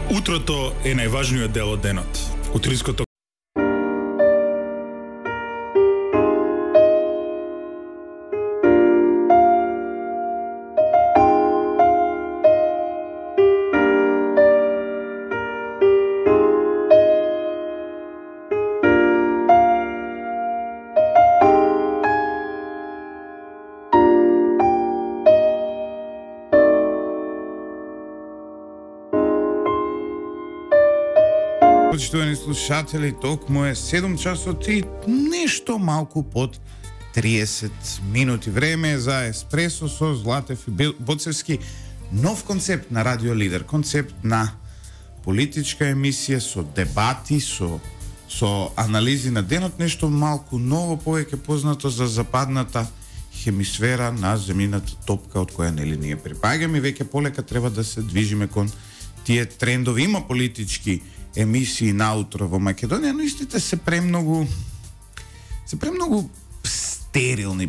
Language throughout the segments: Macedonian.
Утрото е најважниот дел од денот. Утринското Почитувани слушатели, токму е 7 часот и нешто малку под 30 минути. Време е за еспресо со Златев и Боцевски. Нов концепт на Радио Лидер, концепт на политичка емисија со дебати, со анализи на денот, нешто малку ново, повеќе познато за западната хемисфера на земјината топка од која нели ние припаѓаме. Веќе полека треба да се движиме кон тие трендови. Има политички емисии наутро во Македонија, но истите се премногу стерилни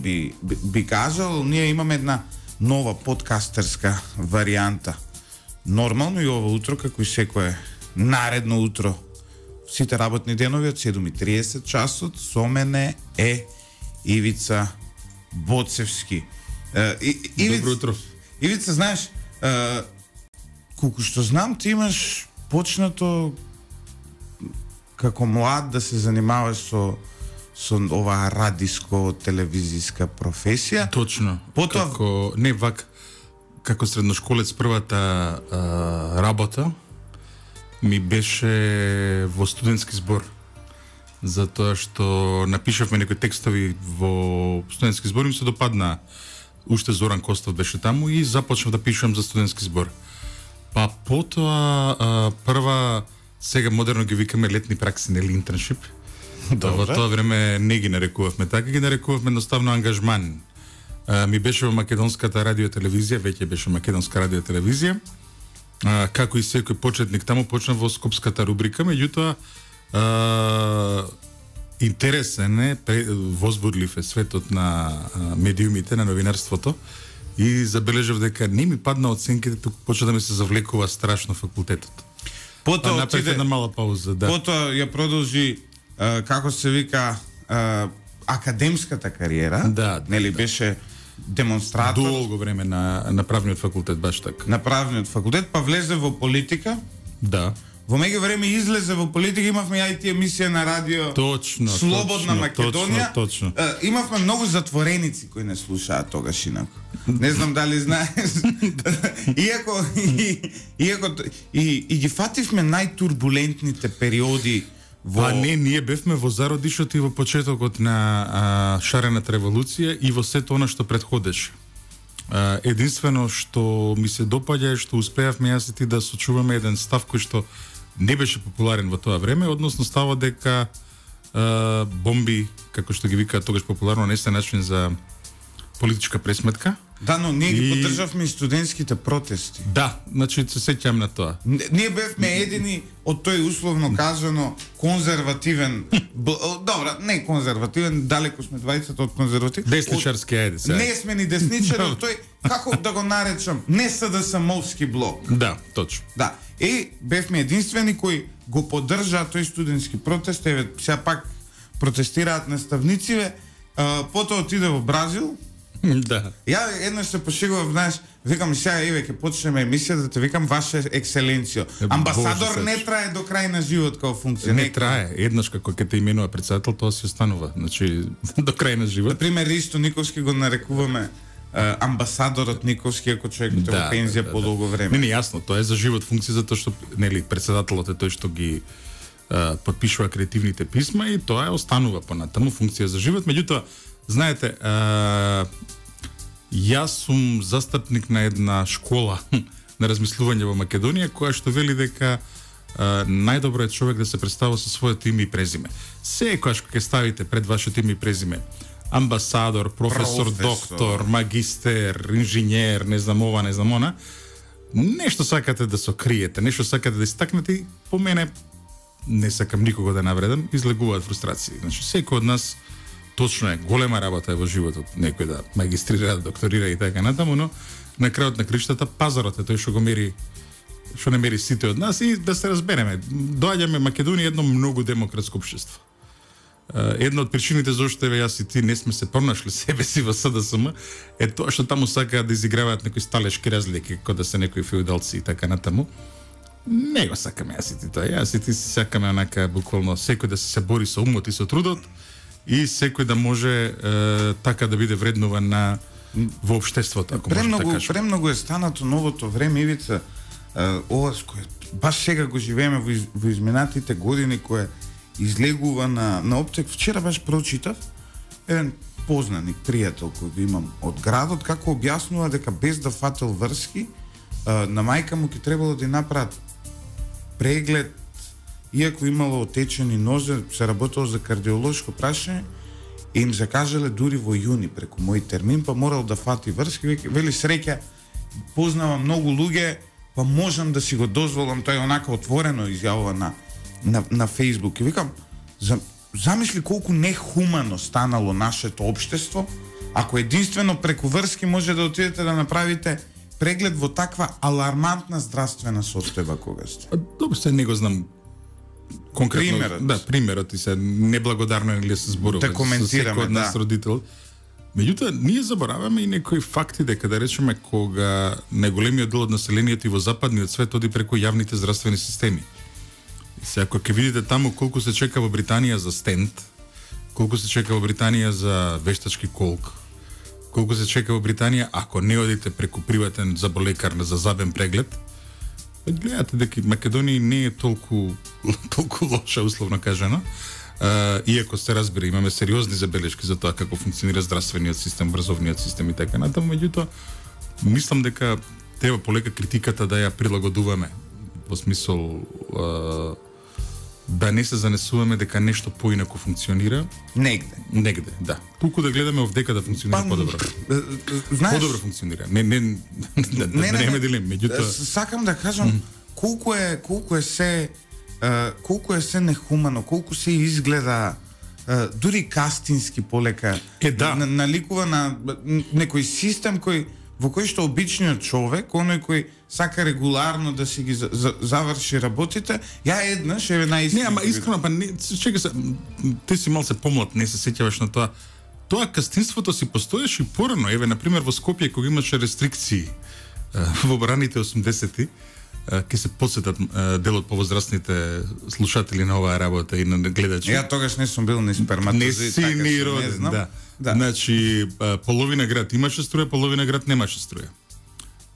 би кажал. Ние имаме една нова подкастерска варијанта. Нормално и ова утро, како и секое наредно утро, сите работни денови од 7:30 часот, со мене е Ивица Боцевски. Добро утро. Ивица, знаеш, колку што знам, ти имаш почнато како млад да се занимаваш со оваа радиско-телевизиска професија. Точно. Потоа како средношколец првата работа ми беше во студентски збор. Затоа што напишавме некои текстови во студентски збор и ми се допадна. Уште Зоран Костов беше таму и започнав да пишам за студентски збор. Па потоа прва, сега модерно ги викаме летни пракси, нели интерншип. Во тоа време не ги нарекувавме така, ги нарекувавме едноставно ангажман. Ми беше во македонската радио-телевизија, веќе беше македонска радио-телевизија. Како и секој почетник таму почна во скопската рубрика, меѓутоа интересен е, возбудлив е светот на медиумите, на новинарството. И забележав дека не ми падна оценките, тук почна да ми се завлекува страшно факултетот. Потоа направи една мала пауза, да. Потоа ја продолжи како се вика академската кариера. Да, нели беше демонстратор долго време на правниот факултет, баш така. На правниот факултет, па влезе во политика. Да. Во меѓувреме излезе во политика, имавме IT емисија на радио. Точно. Слободна Македонија. Точно. Имавме многу затвореници кои не слушаат тогаш инаку. Не знам дали знаеш. Иако ги фативме најтурбулентните периоди во... Па не, ние бевме во зародишот и во почетокот на шарената револуција и во сето она што предходеше. Единствено што ми се допаѓа е што успеавме јас и ти да сочуваме еден став кој што не беше популарен во тоа време, односно става дека бомби, како што ги викаат тогаш популарно, не се начин за политичка пресметка. Да, но ние ги поддржавме и студентските протести. Да, значи се сеќам на тоа. Ние бевме едини од тој условно кажано конзервативен, добра, не конзервативен, далеко сме двајцата од конзерватив. Десничарски, ајде сега. Не сме ни десничари, од тој, како да го наречам, не СДСМовски блок. Да, точно. Да, и бевме единствени кои го поддржаат тој студентски протест, еве, сега пак протестираат наставнициве, потоа отиде во Бразил. Да. Ја еднаш се пошегував, знаеш, викам сега еве ќе почнеме емисија да те викам Ваша екселенцијо. Амбасадор не трае до крај на живот како функција. Не трае, еднаш како ќе те именува претседател, тоа се останува. Значи до крај на живот. Например, Ристо Никовски го нарекуваме амбасадорот Никовски, ако човекот е во пензија подолго време. Не, јасно, тоа е за живот функција затоа што нели претседателот е тој што ги подпишува креативните писма и тоа е останува понатаму функција за живот. Меѓутоа, знаете, јас сум застапник на една школа на размислување во Македонија, која што вели дека најдобро е човек да се представува со своето име и презиме. Секогаш кога ќе ставите пред вашето име и презиме амбасадор, професор, доктор, магистер, инженер, не знам ова, не знам она, нешто сакате да сокриете, нешто сакате да истакнете и по мене не сакам никого да навредам, излегуваат фрустрации. Значи, секој од нас точно е, голема работа е во животот, некој да магистрира, да докторира и така натаму, но на крајот на криштата пазарот е тој што го мери што не мери сите од нас и да се разбереме. Доаѓаме Македонија едно многу демократско општество. Една од причините зашто јас и ти не сме се пронашли себе си во СДСМ е тоа што таму сакаат да изиграваат некои сталешки разлики, како да се некои феудалци и така натаму. Не го сакаме јас и ти тоа. Јас и ти си сакаме онака буквално секој да се бори со умот и со трудот и секој да може така да биде вреднуван во општеството, ако може да кажем. Премногу е станато новото време, Ивица, ова кое баш сега го живееме во изминатите години, кое излегува на оптек. Вчера баш прочитав еден познаник, пријател кој го имам од градот, како објаснува дека без да фател врски, на мајка му ќе требало да ја направат преглед, иако имало отечени нозе, се работело за кардиолошко прашање, и им закажале дури во јуни преку мој термин, па морал да фати врски, вели среќа, познавам многу луѓе, па можам да си го дозволам, тој онака отворено изјавува на Facebook. И викам, замисли колку нехумано станало нашето општество, ако единствено преку врски може да отидете да направите преглед во таква алармантна здравствена состојба кога сте. Добро, се не го знам конкретно. Примерот. Да, примерот и се неблагодарно е се зборува. Да коментираме, секој од нас родител. Меѓутоа, ние забораваме и некои факти дека да речеме кога најголемиот дел од населението и во западниот свет оди преку јавните здравствени системи. И се ако ќе видите таму колку се чека во Британија за стент, колку се чека во Британија за вештачки колк, колку се чека во Британија ако не одите преку приватен заболекар за забен преглед, гледате дека Македонија не е толку лоша, условно кажано. Иако се разбира, имаме сериозни забелешки за тоа како функционира здравствениот систем, образовниот систем и така натаму, меѓутоа мислам дека треба полека критиката да ја прилагодуваме во смисол да не се занесуваме дека нешто поинаку функционира негде, да. Туку да гледаме овдека да функционира подобро. Знаеш, подобро функционира. Не немаме дилем, меѓутоа сакам да кажам колку е се нехумано, колку се изгледа дури кастински полека наликува на некој систем во кој што обичниот човек, оној кој сака регуларно да си ги заврши работите, ја еднаш еве наистина. Не, ама искрено, па не, чека се, ти си малце помлад, не се сеќаваш на тоа. Тоа кастинството си постоеше и порано, еве на пример во Скопје кога имаше рестрикции во раните 80-ти, ќе се подсетат дел од повозрастните слушатели на оваа работа и на гледачи. Ја тогаш не сум бил ни сперматозоид, не си така ни роден, да. Значи, половина град имаше струја, половина град немаше струја.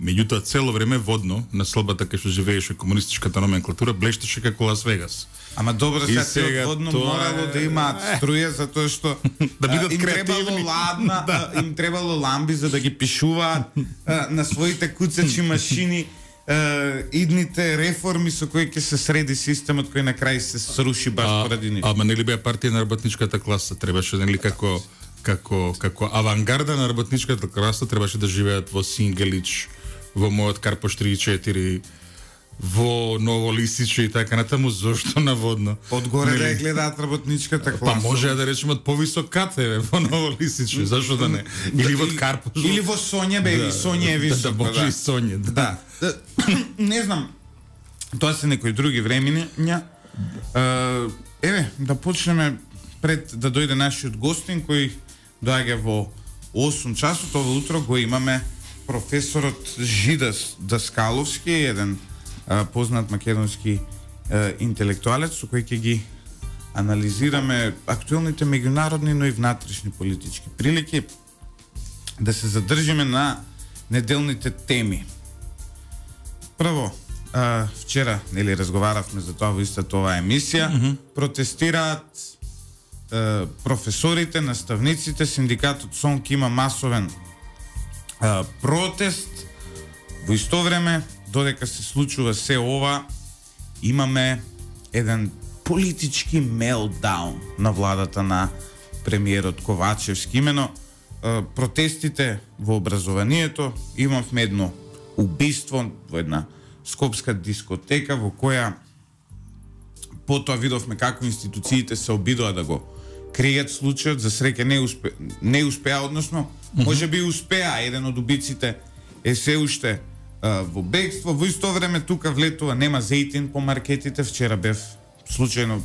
Меѓутоа, цело време водно, на слабата кај што живееше комунистичката номенклатура, блештеше како Лас Вегас. Ама добро, сега водно морало да имаат струја, затоа што да бидат им требало ладна, им требало ламби за да ги пишуваат на своите куцачи машини, идните реформи со кои ќе се среди системот кој на крај се сруши баш поради нив. Ама нели беа партија на работничката класа, требаше нели како авангарда на работничката класа требаше да живеат во Сингелич, во мојот Карпош 34, во Ново Лисиче и така натаму, зошто наводно. Одгоре да ја гледаат работничката класа. Па може да речеме од повисок кат во Ново Лисиче, зашто да не? Или во Карпош. Или во Сонје, бе, Сонје е високо. Да, може и Сонје, да. Не знам, тоа се некои други времиња. Еве, да почнеме пред да дојде нашиот гостин кој доаѓа во 8 часот. Ова утро го имаме професорот Жидас Даскаловски, еден познат македонски интелектуалец со кој ќе ги анализираме актуелните меѓународни, но и внатрешни политички прилики, да се задржиме на неделните теми. Прво, вчера нели разговаравме за тоа во истата оваа емисија, протестираат професорите, наставниците, синдикатот СОНК има масовен протест. Во исто време, додека се случува се ова, имаме еден политички мелтдаун на владата на премиерот Ковачевски. Имено протестите во образованието, имавме едно убиство во една скопска дискотека во која потоа видовме како институциите се обидоа да го кријат случајот, за среќа не успеа, односно можеби успеа, еден од убиците е се уште во бегство. Во исто време тука влетува, нема зејтин по маркетите. Вчера бев случајно,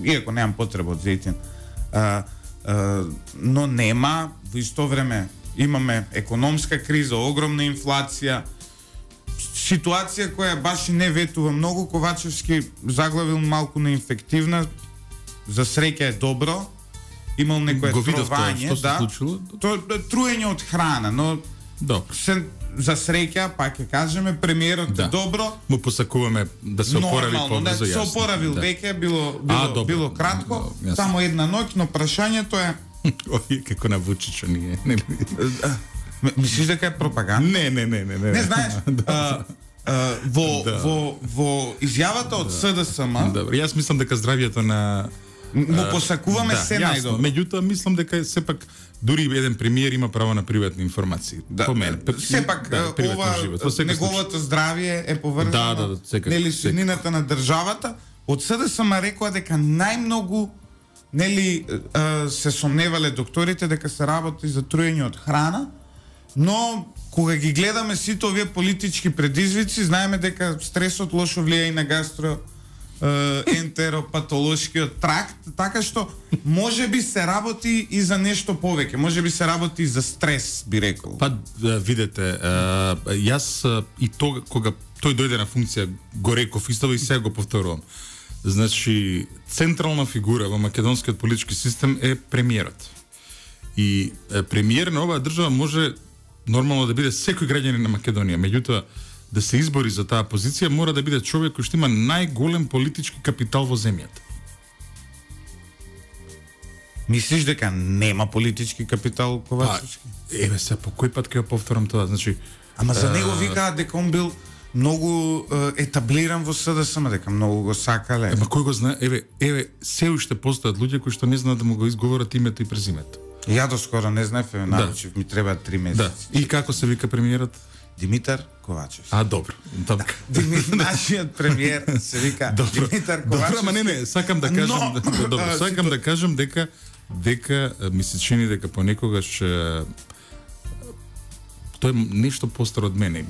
иако немам потреба од зејтин, но нема. Во исто време имаме економска криза, огромна инфлација, ситуација која баш и не ветува многу. Ковачевски заглавил малку неинфективна, за среќа е добро, имал некое трување, што се случило? Тоа труење од храна, но добро. За среќа, пак ќе кажеме, премиерот е добро. Му посакуваме да се опорави побрзо, јасно. Се опоравил веќе, било кратко, само една ноќ, но прашањето е Ој, како на Вучичо ние, нели? Мислиш дека е пропаганда? Не. Не знаеш. Во изјавата од СДСМ. Добро, јас мислам дека здравјето на му посакуваме се најдобро. Меѓутоа мислам дека сепак дури еден премиер има право на приватни информации. По мене. Сепак ова неговото здравје е поврзано. Нели суднината на државата. Од СДСМ рекоа дека најмногу се сомневале докторите дека се работи за труење од храна, но кога ги гледаме сите овие политички предизвици, знаеме дека стресот лошо влијае и на ентеропатолошкиот тракт, така што можеби се работи и за нешто повеќе, можеби се работи и за стрес, би рекол. Па видете, јас и тога кога тој дојде на функција го реков исто и сега го повторувам. Значи, централна фигура во македонскиот политички систем е премиерот. И премиер на оваа држава може нормално да биде секој граѓанин на Македонија, меѓутоа да се избори за таа позиција мора да биде човек кој што има најголем политички капитал во земјата. Мислиш дека нема политички капитал Ковачевски? Еве се по кој пат ќе го повторам тоа, значи ама за него викаат дека он бил многу етаблиран во СДСМ, дека многу го сакале. Ема кој го знае? Еве се уште постојат луѓе кои што не знаат да му го изговорат името и презимето. Ја доскоро не знаев, научив, ми треба 3 месеци. Да. И како се вика премиерот? Димитар Ковачевски. Добро. Нашиот премиер се вика Димитар Ковачевски. Добро, ама не, сакам да кажам, сакам да кажам дека ми се чини дека понекогаш тој е нешто постар од мене.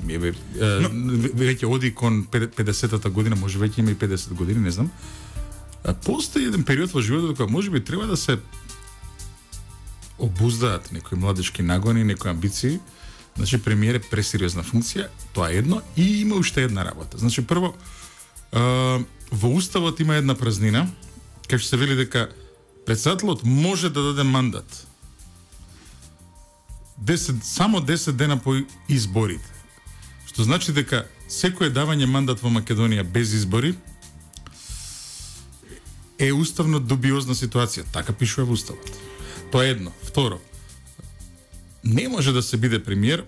Веќе оди кон 50-та година, може веќе има и 50 години, не знам. Постои еден период во животот кога можеби треба да се обуздаат некои младички нагони, некои амбиции. Значи премиер е пресериозна функција, тоа е едно, и има уште една работа. Значи прво во уставот има една празнина, кај што се вели дека претседателот може да даде мандат само 10 дена по изборите. Што значи дека секое давање мандат во Македонија без избори е уставно дубиозна ситуација. Така пишува во уставот. Тоа е едно. Второ, не може да се биде премиер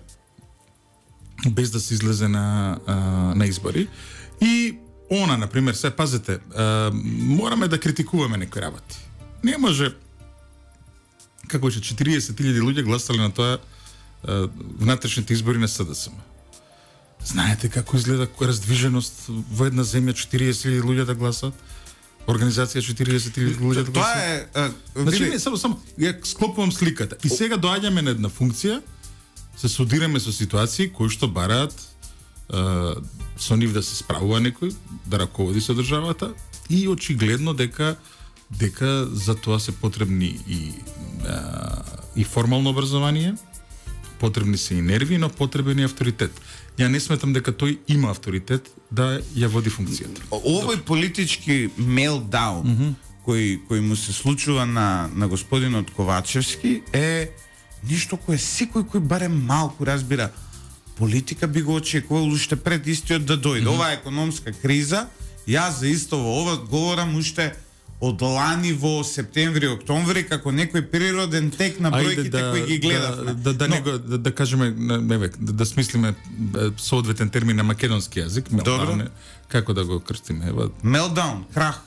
без да се излезе на избори. И она, например, се пазете, мораме да критикуваме некои работи. Не може, како че 40.000 луѓе гласале на тоа внатрешните избори на СДСМ. Знаете како изгледа раздвиженост во една земја 40.000 луѓе да гласат? Организација 40.000 луѓе да гласат? Тоа е... Значи, не, само ја склопувам сликата. И сега доаѓаме на една функција, се судираме со ситуации кои што бараат со нив да се справува некој, да раководи со државата, и очигледно дека за тоа се потребни и формално образование, потребни се и нерви, но потребен и авторитет. Ја не сметам дека тој има авторитет да ја води функцијата. Овој политички мелдаун кој му се случува на господинот Ковачевски е нешто кое секој кој барем малку разбира политика би го очекувал уште пред истиот да дојде. Оваа економска криза, јас за исто во ова говорам уште од лани во септември, октомври, како некој природен тек на бројките кои ги гледавме. Да кажеме, да смислиме соодветен термин на македонски јазик. Добро. Како да го крстиме? Мелдаун, крах.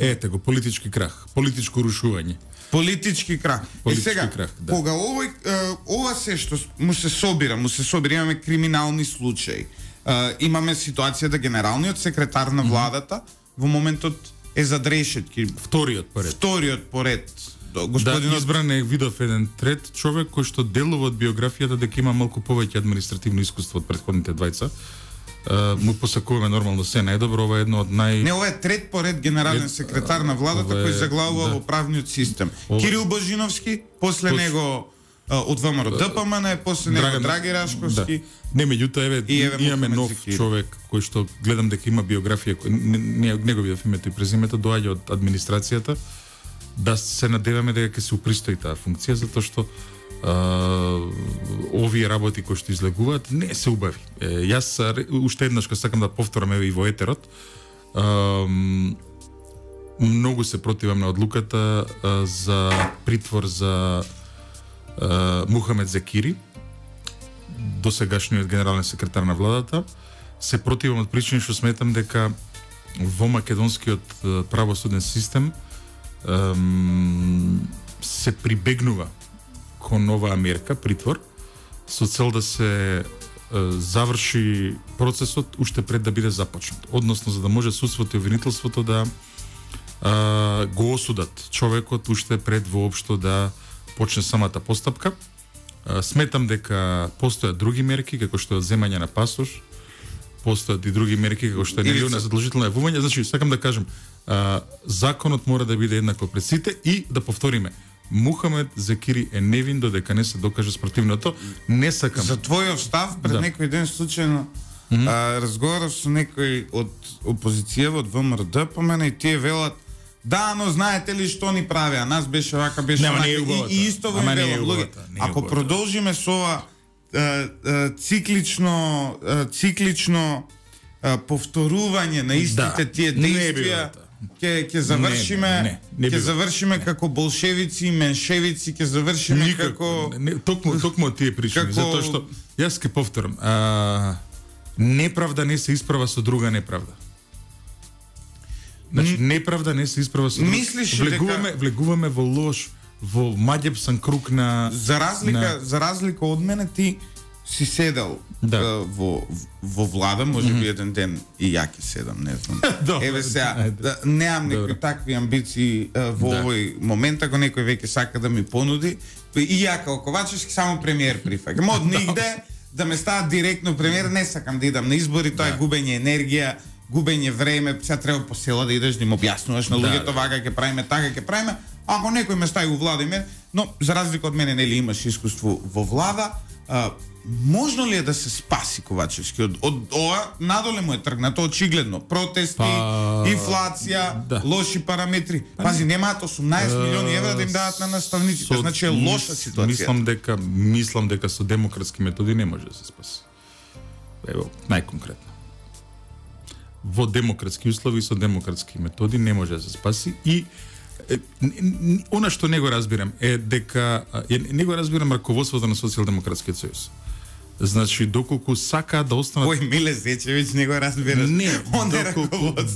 Ете го, политички крах, политичко рушување. Политички крах. И сега, кога ова се што му се собира, имаме криминални случаи, имаме ситуација да генералниот секретар на владата во моментот е зад решетки. Вториот поред. господинот избран е, видов еден трет човек кој што делува од биографијата дека има малку повеќе административно искуство од претходните двајца. Му посакуваме нормално се најдобро, ова е едно од Не, ова е трет поред генерален секретар на владата кој заглавува во правниот систем. Кирил Божиновски, после него од ВМРО ДПМН, после него Драги Рашковски. Не, меѓутоа имаме нов човек кој што гледам дека има биографија, не го видов името и презимето, доаѓа од администрацијата. Да се надеваме дека ќе се упристои таа функција, затоа што овие работи кои што излегуваат не се убави. Јас уште еднаш кога сакам да повторам и во етерот, многу се противам на одлуката за притвор за Мухамед Зекири, досегашниот генерален секретар на владата. Се противам од причини што сметам дека во македонскиот правосуден систем се прибегнува кон оваа мерка, притвор, со цел да се заврши процесот уште пред да биде започнат. Односно, за да може судството и обвинителството да го осудат човекот уште пред воопшто да почне самата постапка. Сметам дека постојат други мерки, како што е земање на пасош, постојат и други мерки, како што е нелиона задолжително јавување. Значи, сакам да кажам, законот мора да биде еднаков пред сите и да повториме, Мухамед Зекири е невин додека не се докаже спротивното. Не сакам. За твојов став, пред некој ден случајно разговарав со некој од опозиција од ВМРО ДПМН и тие велат: "Да, но знаете ли што ни прави? А нас беше вака, беше вака." И исто во велат. Ако продолжиме со ова циклично повторување на истите тие действија, ќе завршиме како болшевици, меншевици, ќе завршиме како токму тие причини, затоа што јас ќе повторам, неправда не се исправа со друга неправда. Значи неправда не се исправа со друга. Влегуваме во лош, во маѓепсан круг на за разлика од мене, ти си седел во влада, може би еден ден и ја ќе седам, не знам. Еве сега, неам некои такви амбиции во овој момент, ако некој веќе сака да ми понуди, и ја како Ковачевски само премиер прифаќам. Од нигде да ме стават директно премиер, не сакам да идам на избори, тоа е губење енергија, губење време, сега треба по села да идеш да им објаснуваш на луѓето вака ќе правиме, така ќе правиме. Ако некој ме стави во влада, но за разлика од мене, нели имаш искуство во влада, можно ли е да се спаси Ковачевски од ова? Надоле му е тргнато очигледно. Протести, инфлација, лоши параметри. Пази, немаат 18 милиони евра да им дадат на наставниците. Значи е лоша ситуација. Мислам дека со демократски методи не може да се спаси. Ево, најконкретно. Во демократски услови со демократски методи не може да се спаси и она што не го разбирам е дека не го разбирам раководството на Социјалдемократскиот сојуз. Значи, доколку сака да останат... Ој, Миле Зечевиќ, не го разбираш. Не,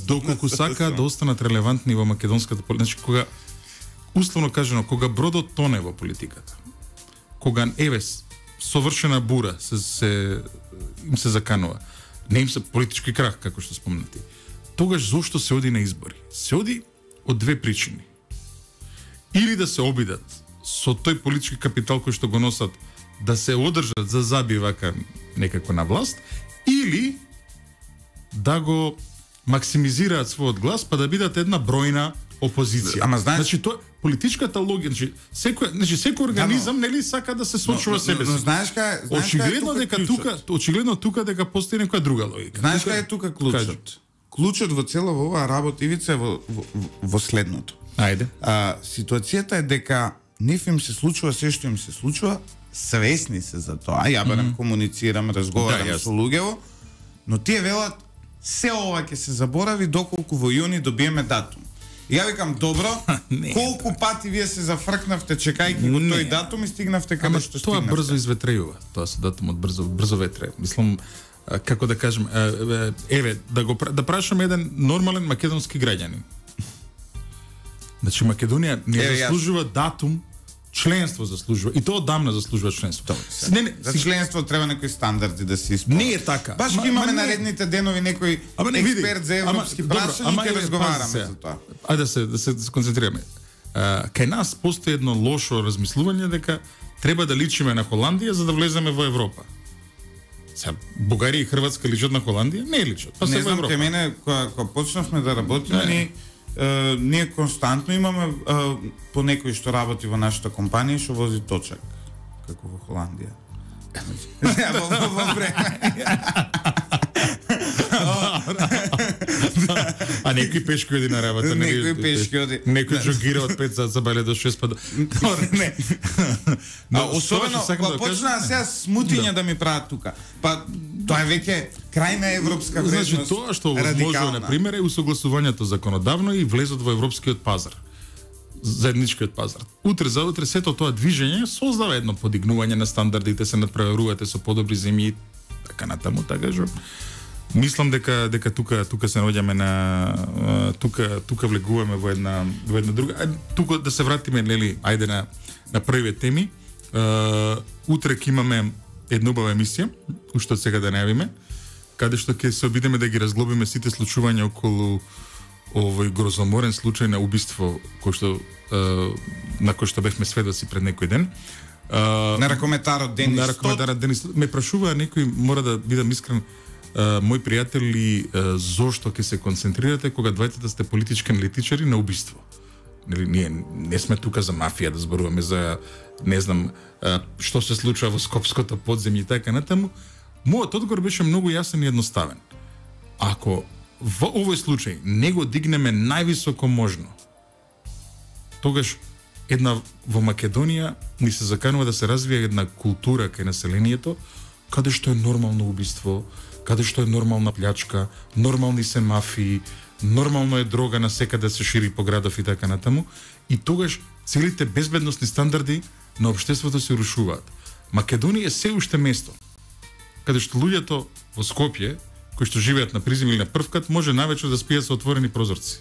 доколку сака да останат релевантни во македонската политика. Значи, кога, условно кажано, кога бродот тоне во политиката, кога, совршена бура им се заканува, не им се политички крах, како што спомнати, тогаш зошто се оди на избори? Се оди од две причини. Или да се обидат со тој политички капитал кој што го носат, да се одржат за заби вака некако на власт, или да го максимизираат својот глас, па да бидат една бројна опозиција. Ама знаеш, значи тоа политичката логика, секој организам нели сака да се сочува себе си. Но знаеш кај, очигледно тука дека постои некоја друга логика. Знаеш кај е тука клучот? Клучот во цела оваа работа, Ивица, е во следното. Ајде. Ситуацијата е дека ниф им се случува се што им се случува, свесни се за тоа. Ја барем комуницирам, разговарам со луѓево, но тие велат се ова ќе се заборави доколку во јуни добиеме датум. И ја викам, добро, колку пати вие се зафркнавте чекајќи го тој датум и стигнавте каде што стигнавте? Тоа брзо изветрејува. Тоа со датумот брзо ветре. Мислам, како да кажем, да прашам еден нормален македонски граѓанин. Значи Македонија не заслужува датум, членство заслужува. И тоа одамна заслужува членство. За членство треба некои стандарди да се исполнат. Не е така. Баш ги имаме наредните денови некој експерт за европски прашања и ќе разговараме за тоа. Ајде да се концентрираме. кај нас постои едно лошо размислување дека треба да личиме на Холандија за да влеземе во Европа. Сега, Бугарија и Хрватска личат на Холандија? Не личат. Па не се во знам, Европа. ке мене, кога почнавме да работиме, ние константно имаме по некој што работи во нашата компанија што вози точак, како во Холандија. Во време. А некој пешки оди на работа. Некој пешки оди. Некој джогира од 5 за бале до 6 па до... Не. Особено, кога почнаа сега смутиња да ми прават тука. Па, тоа е веќе крајна европска вредност. Значи, тоа што возможно, на пример, е усогласувањето законодавно и влезот во европскиот пазар. Заедничкиот пазар. Утре за утре сето тоа движење создава едно подигнување на стандардите, се надпреварувате со подобри земји, така натаму, така што мислам дека тука се наоѓаме на тука влегуваме во една друга. Тука да се вратиме, нели, ајде на првите теми. Утре ќе имаме една убава емисија, уште од сега да најавиме, каде што ќе се обидеме да ги разглобиме сите случувања околу овој грозоморен случај на убиство на кој што бевме сведоци пред некој ден. На ракометарот Денис. Ме прашува некој, мора да бидам искрен, мои пријатели, зошто ќе се концентрирате кога двајцата сте политички аналитичари на убиство? Нели, ние не сме тука за мафија да зборуваме за, не знам, што се случува во Скопското подземје и така натаму. Мојот одговор беше многу јасен и едноставен. Ако во овој случај не го дигнеме највисоко можно, тогаш во Македонија ни се заканува да се развие една култура кај населението, каде што е нормално убиство, каде што е нормална плячка, нормални се мафии, нормално е дрога на секаде да се шири по градов и така натаму, и тогаш целите безбедносни стандарди на општеството се рушуваат. Македонија е се уште место каде што луѓето во Скопје, кои што живеат на призем или на првкат, може навечер да спијат со отворени прозорци.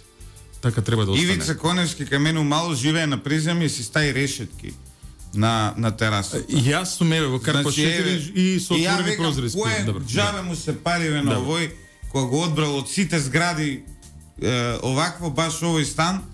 Така треба да остане. Ивица Коневски кај мене мало живее на призем и си стаи решетки на тераса. Јас сум во Карпо 4 и со отворени прозори спијам. Добро. Джабе му се париве на овој, кога го одбрал од сите згради овакво, баш овој стан,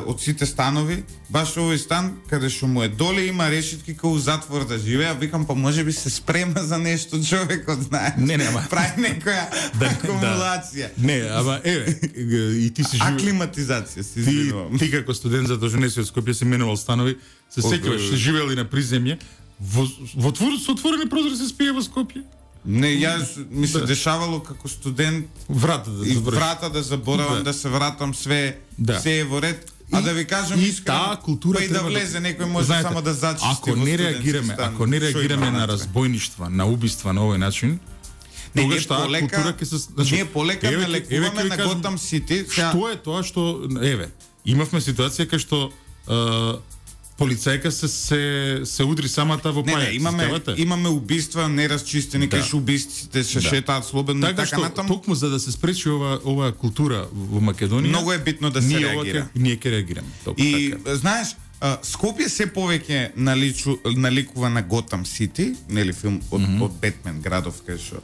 од сите станови, баш овој стан, каде што му е доле има решетки као затвор да живее, викам, па може би се спрема за нешто човекот, знае. Не, ама прави некоја акумулација. Не, ама и ти си живеел. Аклиматизација си извинувам. Ти како студент за доженеси од Скопје си менувал станови, се сеќаваш, си живеел и на приземје, во со отворени прозори се спие во Скопје. Не, јас ми се дешавало како студент врата да заборавам, да се вратам, све е во ред. А да ви кажам искрено, култура па и да влезе некој може само да зачисти. Ако не реагираме на разбойништва, на убиства на овој начин, тогаш таа култура ќе се, значи, ние полека налекуваме на Готам Сити. Што е тоа што имавме ситуација кај што полицајка се удри самата во пајаc. Имаме убиства неразчистени, кај што убистите се шетаат слободно и така натаму. Токму за да се спречи оваа култура во Македонија, многу е битно да се реагира. Ние ќе реагираме. И знаеш, Скопје се повеќе наликува на Готам Сити, нели филм од Бетмен градов, кај што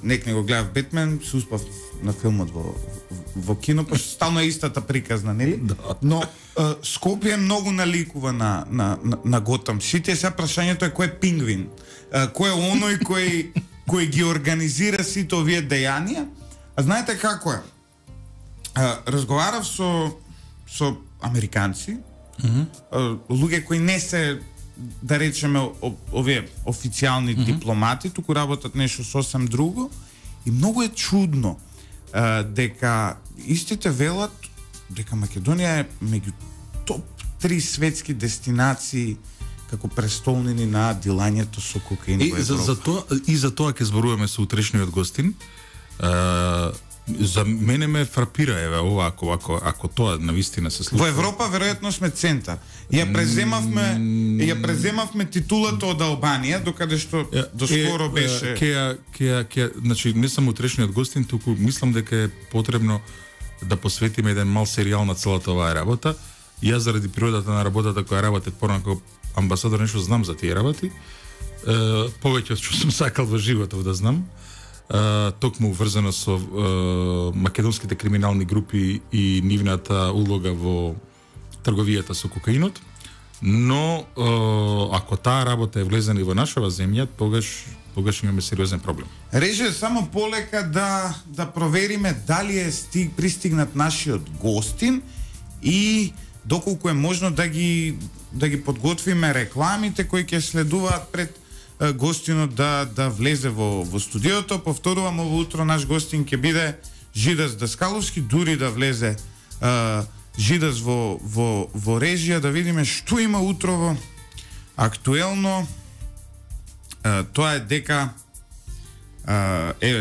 нек не го гледав Бетмен, се успав на филмот во кино, па стално е истата приказна, нели? Но Скопје многу наликува на Готам Сити. Сега прашањето е кој е пингвин? Кој е оној кој ги организира сите овие дејанија? А знаете како е? Разговарав со американци, луѓе кои не се, да речеме, овие официјални дипломати, туку работат нешто сосем друго, и многу е чудно дека истите велат дека Македонија е меѓу топ 3 светски дестинации како престолнини на дилањето со кокаин во Европа. За тоа ќе зборуваме со утрешниот гостин. За мене ме фрапира ова ако тоа навистина се случи. Во Европа веројатно сме центар. Ја преземавме титулата од Албанија, докаде што доскоро беше. Значи не само утрешниот гостин, туку мислам дека е потребно да посветиме еден мал серијал на целата оваа работа. Јас заради природата на работата која работев порано амбасадор нешто знам за тие работи. Повеќе од што сум сакал во животот да знам. Токму врзано со македонските криминални групи и нивната улога во трговијата со кокаинот, но ако таа работа е влезена и во нашава земја, тогаш имаме сериозен проблем. Реже само полека да провериме дали е пристигнат нашиот гостин и доколку е можно да ги подготвиме рекламите кои ќе следуваат пред гостинот да влезе во студиото. Повторувам, ово утро наш гостин ќе биде Жидас Даскаловски, дури да влезе Жидас во режија, да видиме што има утрово актуелно. Тоа е дека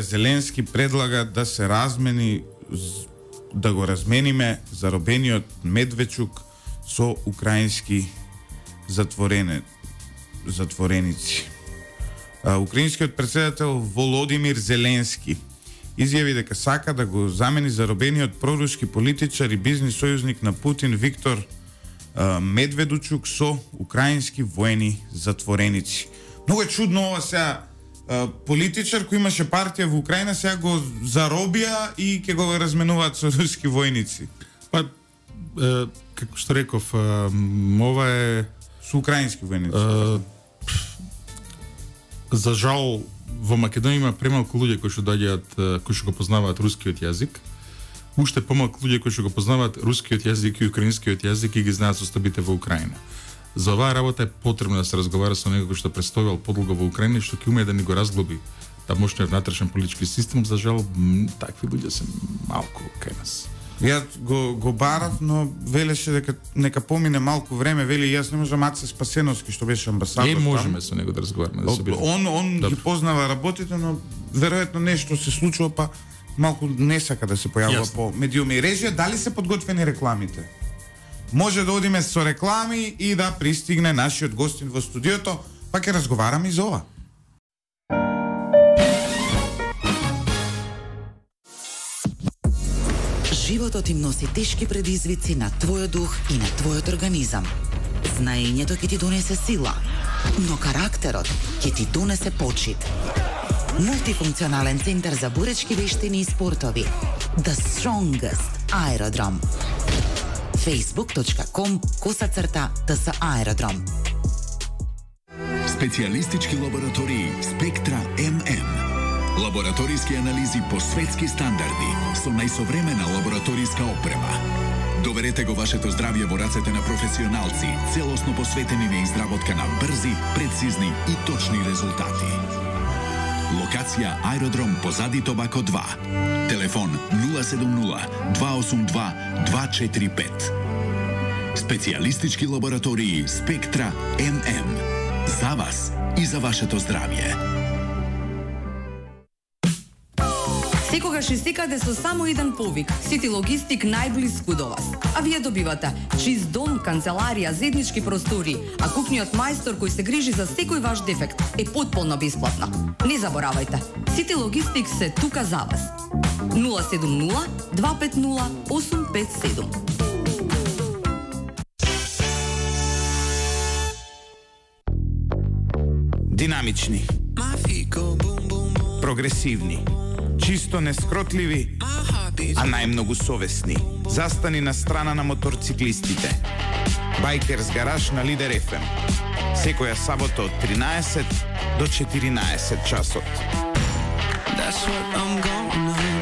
Зеленски предлага да се размени, да го размениме заробениот Медведчук со украински затвореници. Украинскиот председател Володимир Зеленски изјави дека сака да го замени заробениот проруски политичар и бизнис сојузник на Путин Виктор Медведчук со украински воени затвореници. Многу е чудно ова сега. Политичар кој имаше партија во Украина сега го заробија и ќе го разменуваат со руски војници. Па, како што реков, ова е со украински војници. За жал, во Македонија има премалку луѓе кои што доаѓаат, кои што го познаваат рускиот јазик. Уште помалку луѓе кои што го познаваат рускиот јазик и украинскиот јазик и ги знаат состојбите во Украина. За оваа работа е потребно да се разговара со некој што престојувал подолго во Украина и што ќе умее да ни го разглоби тамошниот внатрешен политички систем. За жал, такви луѓе се малку кај нас. Ја го барав, но велеше дека нека помине малку време, вели јас не можам. Аце Спасеновски што беше амбасадор. Можеме со него да разговараме, да се биде. Он ги познава работите, но веројатно нешто се случува, па малку не сака да се појавува по медиуми. Режија, дали се подготвени рекламите? Може да одиме со реклами и да пристигне нашиот гостин во студиото, па ќе разговараме и за ова. Животот им носи тешки предизвици на твојот дух и на твојот организам. Знаењето ќе ти донесе сила, но карактерот ќе ти донесе почит. Мултифункционален центар за боречки вештини и спортови. The Strongest Aerodrome. facebook.com/TS Aerodrome. Специјалистички лаборатории Спектра ММ. Лабораториски анализи по светски стандарди со најсовремена лабораториска опрема. Доверете го вашето здравје во рацете на професионалци, целосно посветени на изработка на брзи, прецизни и точни резултати. Локација Аеродром позади Тобако 2. Телефон 070 282 245. Специјалистички лаборатории Спектра ММ. За вас и за вашето здравје. Секогаш и секаде со само еден повик. Сити Логистик најблиску до вас. А вие добивате чист дом, канцеларија, заеднички простори, а кухниот мајстор кој се грижи за секој ваш дефект е потполно бесплатно. Не заборавајте, Сити Логистик се тука за вас. 070 250 857. Динамични, прогресивни, чисто нескротливи, а најмногу совесни. Застани на страна на моторциклистите. Байкерс гараж на Лидер FM. Секоја сабота од 13 до 14 часот. That's what I'm gonna